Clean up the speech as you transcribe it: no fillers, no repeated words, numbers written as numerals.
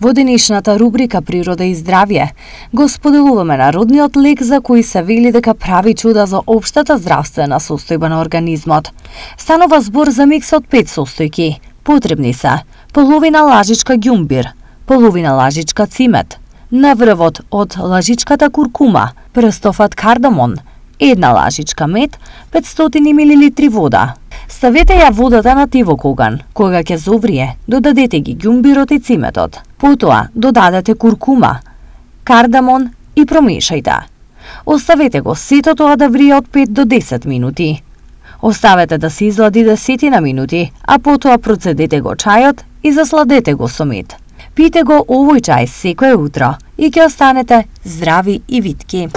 Во денешната рубрика Природа и здравје го споделуваме народниот лек за кој се вели дека прави чуда за општата здравствена состојба на организмот. Станува збор за микс од 5 состојки. Потребни се половина лажичка ѓумбир, половина лажичка цимет, наврвот од лажичката куркума, прстофат кардамон, 1 лажичка мед, 500 мл вода. Ставете ја водата на тивок оган. Кога ќе зоврие, додадете ги ѓумбирот и циметот. Потоа додадете куркума, кардамон и промешајте. Оставете го сето тоа да врие од 5 до 10 минути. Оставете да се излади 10 минути, а потоа процедете го чајот и засладете го со мед. Пите го овој чај секое утро и ќе останете здрави и витки.